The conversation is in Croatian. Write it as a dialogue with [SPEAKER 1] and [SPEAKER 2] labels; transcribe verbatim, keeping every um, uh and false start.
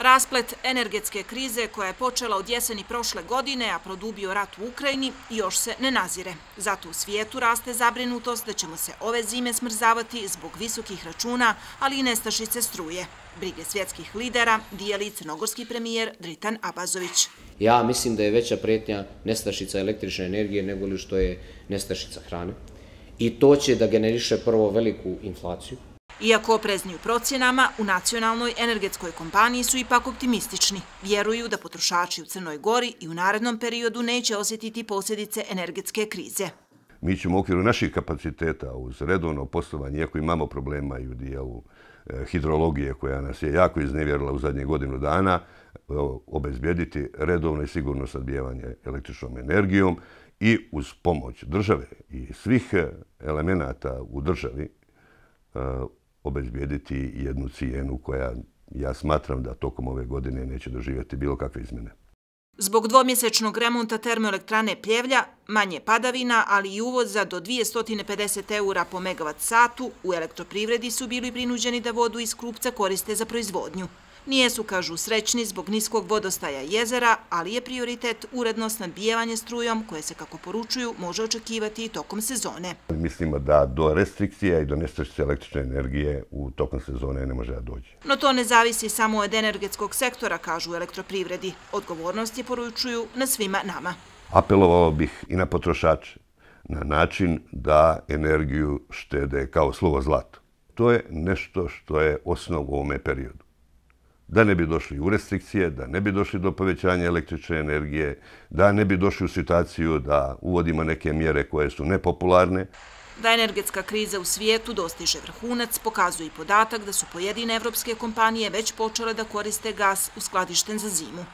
[SPEAKER 1] Rasplet energetske krize koja je počela od jeseni prošle godine, a produbio rat u Ukrajini, još se ne nazire. Zato u svijetu raste zabrinutost da ćemo se ove zime smrzavati zbog visokih računa, ali i nestašice struje. Brige svjetskih lidera dijeli crnogorski premijer Dritan Abazović.
[SPEAKER 2] Ja mislim da je veća prijetnja nestašica električne energije nego li što je nestašica hrane. I to će da generiše prvo veliku inflaciju.
[SPEAKER 1] Iako oprezni u procjenama, u nacionalnoj energetskoj kompaniji su ipak optimistični. Vjeruju da potrošači u Crnoj Gori i u narednom periodu neće osjetiti posljedice energetske krize.
[SPEAKER 3] Mi ćemo u okviru naših kapaciteta uz redovno poslovanje, iako imamo problema i u dijelu hidrologije koja nas je jako iznevjerila u zadnjih godinu dana, obezbijediti redovno i sigurno snabdijevanje električnom energijom i uz pomoć države i svih elemenata u državi obezbijediti jednu cijenu koja ja smatram da tokom ove godine neće doživjeti bilo kakve izmjene.
[SPEAKER 1] Zbog dvomjesečnog remonta termoelektrane Pljevlja, manje padavina, ali i uvoza do dvjesto pedeset eura po megavat satu, u elektroprivredi su bili prinuđeni da vodu iz Krupca koriste za proizvodnju. Nijesu, kažu, srećni zbog niskog vodostaja jezera, ali je prioritet uredno snabdijevanje strujom koje se, kako poručuju, može očekivati i tokom sezone.
[SPEAKER 3] Mislimo da do restrikcija i do nestašice električne energije u tokom sezone ne može da dođe.
[SPEAKER 1] No to ne zavisi samo od energetskog sektora, kažu u elektroprivredi. Odgovornost je, poručuju, na svima nama.
[SPEAKER 3] Apelovao bih i na potrošače na način da energiju štede kao slovo zlato. To je nešto što je osnov u ovome periodu. Da ne bi došli u restrikcije, da ne bi došli do povećanja električne energije, da ne bi došli u situaciju da uvodimo neke mjere koje su nepopularne.
[SPEAKER 1] Da energetska kriza u svijetu dostiže vrhunac, pokazuje i podatak da su pojedine evropske kompanije već počele da koriste gas uskladišten za zimu.